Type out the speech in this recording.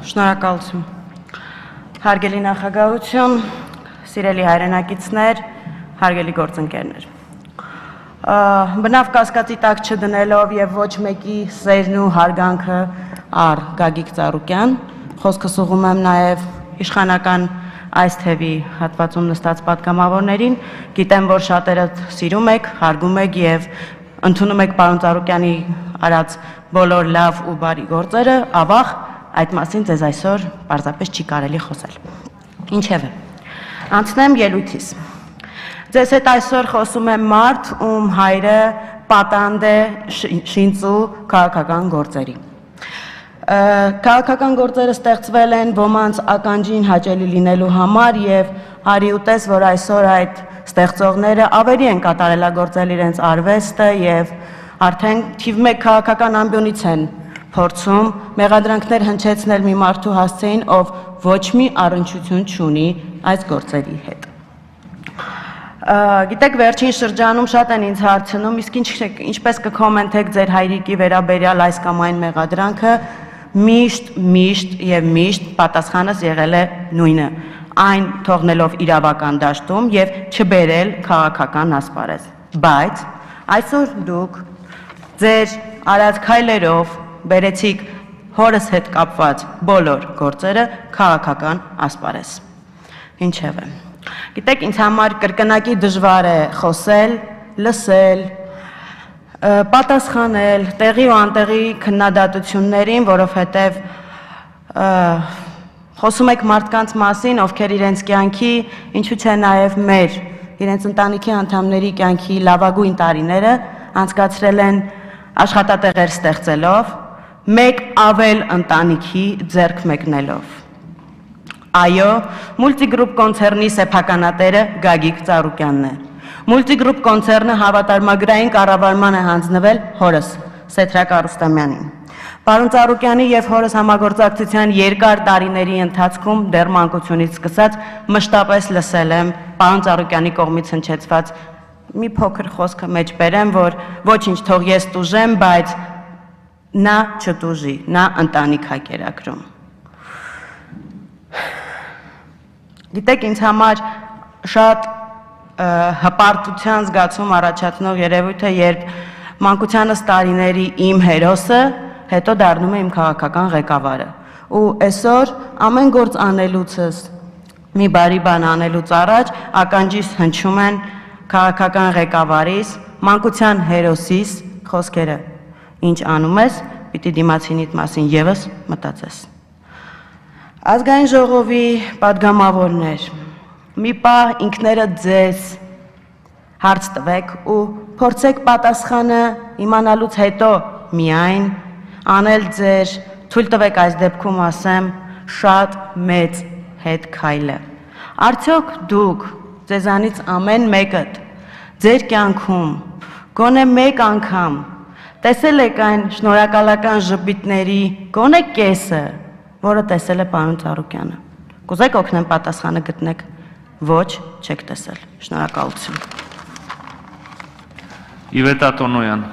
Շնորհակալություն։ Հարգելի նախագահություն, սիրելի հայրենակիցներ, հարգելի գործընկերներ։ Բնավ կասկածի տակ չդնելով եւ ոչ մեկի սերն ու հարգանքը առ Գագիկ Ծառուկյան, խոսքս ուղղում եմ նաեւ իշխանական այս թևի հատվածում նստած պատգամավորներին, գիտեմ, որ շատերը սիրում եք, հարգում եք եւ ընդունում եք պարոն Ծառուկյանի արած բոլոր լավ ու բարի գործերը, ավաղ այդ մասին ձեզ այսօր պարզապես չի կարելի խոսել։ Ինչևէ, անցնեմ ելույթիս։ Ձեզ հետ այսօր խոսում է մարդ, ում հայրը պատանդ է շինծու քաղաքական գործերի։ Քաղաքական գործերը ստեղծվել են ոմանց ականջին հաճելի լինելու համար եւ արի ուտես, որ այսօր այդ ստեղծողները ավելի են կատարելագործել իրենց արվեստը եւ արդեն թիվ 1 քաղաքական ամբիոնից են փորձում մեղադրանքներ հնչեցնել մի մարդու հասցեին, ով ոչ մի առնչություն չունի այս գործերի հետ։ Գիտեք, վերջին շրջանում շատ են ինձ հարցնում, իսկ ինչպես կկոմենտեք ձեր հայրիկի վերաբերյալ այս կամ այն մեղադրանքը, միշտ պատասխանս եղել է նույնը, այն թողնելով իրավական դաշտում եւ չբերել քաղաքական ասպարեզ։ Բայց այսօր դուք ձեր արած քայլերով բերեցիք հորս հետ կապված բոլոր գործերը քաղաքական ասպարեզ։ Ինչևէ, գիտեք, ինձ համար կրկնակի դժվար է խոսել, լսել, պատասխանել տեղի ու անտեղի քննադատություններին, որովհետև խոսում եք մարդկանց մասին, ովքեր իրենց կյանքի, ինչու՞ չէ նաև մեր, իրենց ընտանիքի անդամների կյանքի լավագույն տարիները անցկացրել են աշխատատեղեր ստեղծելով, մեկ ավել ընտանիքի ձեռք մեկնելով։ Այո, Multigroup կոնցեռնի սեփականատերը Գագիկ Ծառուկյանն է։ Multigroup կոնցեռնը հավատարմագրային կառավարման է հանձնվել հորս Սեդրակ Արուստամյանին։ Պարոն Ծառուկյանի եւ հորս համագործակցության երկար տարիների ընթացքում դեռ մանկությունից սկսած մշտապես լսել եմ պարոն Ծառուկյանի կողմից հնչեցված մի փոքր խոսքը մեջ բերեմ, որ ոչինչ թող ես տուժեմ, բայց նա չտուժի, նա ընտանիք է կերակրում։ Գիտեք, ինձ համար շատ հպարտության զգացում առաջացնող երևույթ է, երբ մանկությանս տարիների իմ հերոսը հետո դառնում է իմ քաղաքական ղեկավարը։ Ու այսօր ամեն գործ անելուցս, մի բարի բան անելուց առաջ ականջիս հնչում են քաղաքական ղեկավարիս, մանկության հերոսիս խոսքերը։ Ինչ անում ես, պիտի դիմացինիդ մասին եւս մտածես։ Ազգային ժողովի պատգամավորներ, մի պահ ինքներդ ձեզ հարց տվեք ու փորձեք պատասխանը իմանալուց հետո միայն անել ձեր, թույլ տվեք այս դեպքում ասեմ, շատ մեծ հետ քայլը։ Արդյոք դուք ձեզանից ամեն մեկդ ձեր կյանքում գոնե մեկ անգամ տեսել եք այն շնորհակալական ժպիտների գոնե կեսը, որը տեսել է պարոն Ծառուկյանը։ Կուզեք օգնեմ պատասխանը գտնեք։ Ոչ, չեք տեսել։ Շնորհակալություն։ Իվետա Տոնոյան։